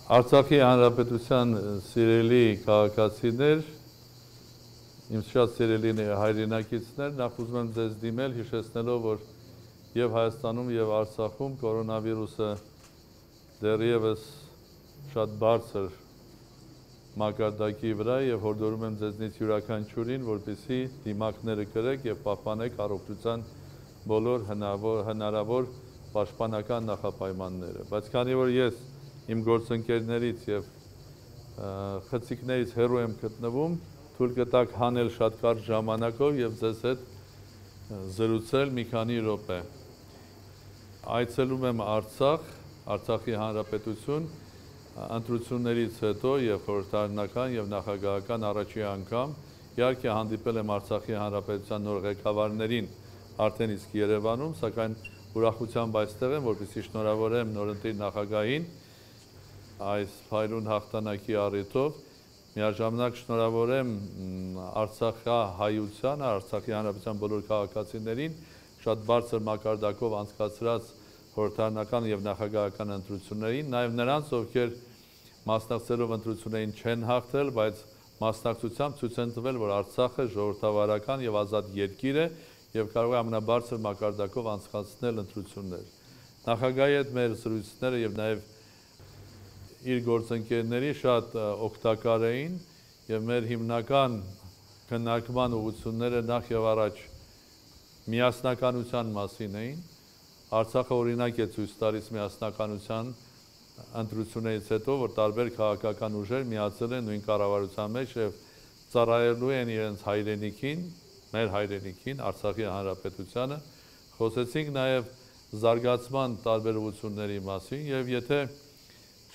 Արցախի հանրապետության սիրելի քաղաքացիներ, իմ շատ սիրելի հայրենակիցներ, նախ ուզում եմ ձեզ դիմել հիշեցնելով, որ եւ Հայաստանում եւ Արցախում կորոնավիրուսը դեռևս շատ բարձր մակարդակի վրա եւ հորդորում եմ ձեզնից յուրաքանչյուրին, որպեսզի դիմակները կրեք եւ պահպանեք առողջության բոլոր հնարավոր պաշտպանական նախապայմանները։ Բայց քանի որ ես իմ գործընկերներից եւ խցիկներից հեռու եմ գտնվում, թույլ կտակ հանել շատ կարճ ժամանակով եւ ձեզ հետ զրուցել մի քանի րոպե։ Այցելում եմ Արցախ, Արցախի հանրապետություն, ընտրություններից հետո եւ խորհրդարանական եւ նախագահական առաջի անգամ իհարկե հանդիպել եմ Արցախի հանրապետության նոր ղեկավարներին արդեն իսկ Երևանում, սակայն ուրախությամբ այստեղ եմ, որպեսզի շնորհավորեմ նորընտիր նախագահին այս փայլուն հաղթանակի առիթով, միաժամանակ շնորհավորեմ Արցախահայությանը, Արցախի հանրապետության բոլոր քաղաքացիներին շատ բարձր մակարդակով անցկացրած խորհրդարանական եւ նախագահական ընտրություններին, նաեւ նրանց, ովքեր մասնակցելով ընտրություններին չեն հաղթել, բայց մասնակցությամբ ցույց են տվել, որ Արցախը ժողովրդավարական եւ ազատ երկիր է եւ կարող է ամենաբարձր մակարդակով անցկացնել ընտրություններ։ Նախագահի հետ մեր զրույցները եւ նաեւ իր գործընկերների շատ օգտակար էին եւ մեր հիմնական քննարկման ուղղությունները նախ եւ առաջ միասնականության մասին էին։ Արցախը օրինակ է ցույց տալիս միասնականության ընտրություններից հետո, որ տարբեր քաղաքական ուժեր միացել են նույն կառավարության մեջ եւ ծառայելու են իրենց հայրենիքին, մեր հայրենիքին, Արցախի հանրապետությանը։ Խոսեցինք նաեւ զարգացման տարբերությունների մասին եւ եթե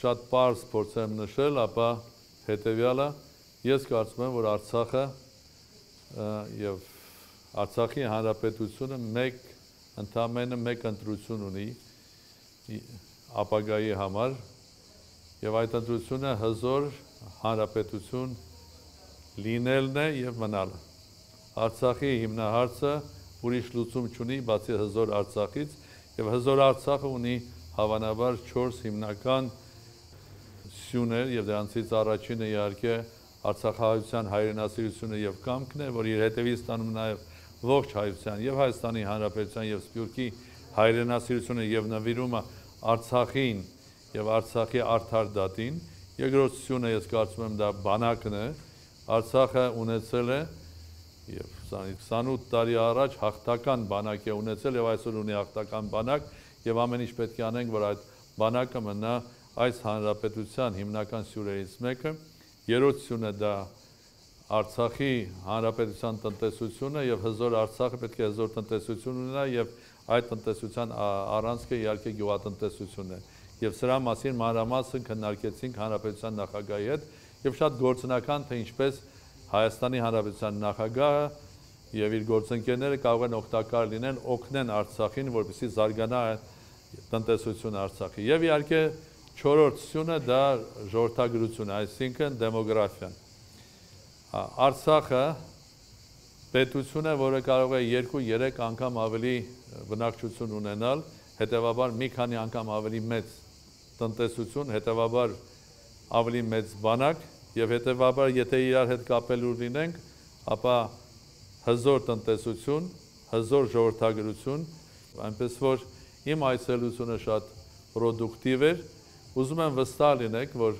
շատ պարզ փորձեմ նշել, ապա հետեւյալը ես կարծում եմ, որ Արցախը եւ Արցախի հանրապետությունը ընդամենը մեկ ընտրություն ունի ապագայի համար եւ այդ ընտրությունը հզոր հանրապետություն լինելն է եւ մնալը։ Արցախի հիմնահարցը ուրիշ լուծում չունի բացի հզոր Արցախից եւ հզոր Արցախը ունի հավանաբար 4 հիմնական սյուներ եւ դրանցից առաջինը իհարկե Արցախահայության հայրենասիրությունը եւ կամքն է, որ իր հետևից ստանում նաեւ ողջ հայության եւ Հայաստանի Հանրապետության եւ Սփյուռքի հայրենասիրությունը եւ նվիրումը Արցախին եւ Արցախի արդար դատին։ Երկրորդ սյունը ես կարծում եմ դա բանակն է։ Արցախը ունեցել է եւ 28 տարի առաջ հաղթական բանակ է ունեցել եւ այսօր ունի հաղթական բանակ եւ ամեն ինչ պետք է անենք, որ այդ բանակը մնա այս հանրապետության հիմնական սյուրերից մեկը։ Երրորդ սյունը դա Արցախի հանրապետության տնտեսությունը եւ հզոր Արցախը պետք է հզոր տնտեսություն ունենա եւ այդ տնտեսության առանցքը իհարկե գյուղատնտեսությունն է։ Եվ սրա մասին մանրամասն քննարկեցինք հանրապետության նախագահի հետ եւ շատ գործնական թե ինչպես Հայաստանի Հանրապետության նախագահը եւ իր գործընկերները կարող են օգտակար լինեն, օգնեն Արցախին, որպեսզի զարգանա տնտեսությունը Արցախի։ Եվ իհարկե չորրորդ սյունը դա ժողովրդագրությունը, այսինքն դեմոգրաֆիան։ Արցախը պետություն է, որը կարող է 2-3 անգամ ավելի բնակչություն ունենալ, հետևաբար մի քանի անգամ ավելի մեծ տնտեսություն, հետևաբար ավելի մեծ բանակ եւ հետևաբար եթե իրար հետ կապելու լինենք, ապա հզոր տնտեսություն, հզոր ժողովրդագրություն, այնպես որ իմ այցելությունը շատ պրոդուկտիվ էր, ուզում եմ վստահ լինեք, որ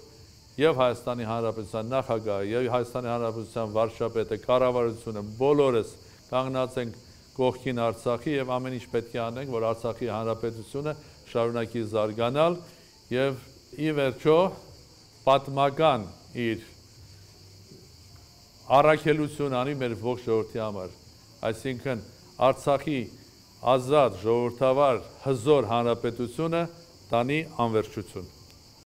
եւ Հայաստանի Հանրապետության նախագահը եւ Հայաստանի Հանրապետության վարչապետը, կառավարությունը բոլորս կանգնած ենք կողքին Արցախի եւ ամեն ինչ պետք է անենք, որ Արցախի Հանրապետությունը շարունակի զարգանալ եւ ի վերջո պատմական իր առաքելություն անի մեր ողջ ժողովրդի համար, այսինքն Արցախի ազատ ժողովրդավար հզոր հանրապետությունը տանի անվերջություն։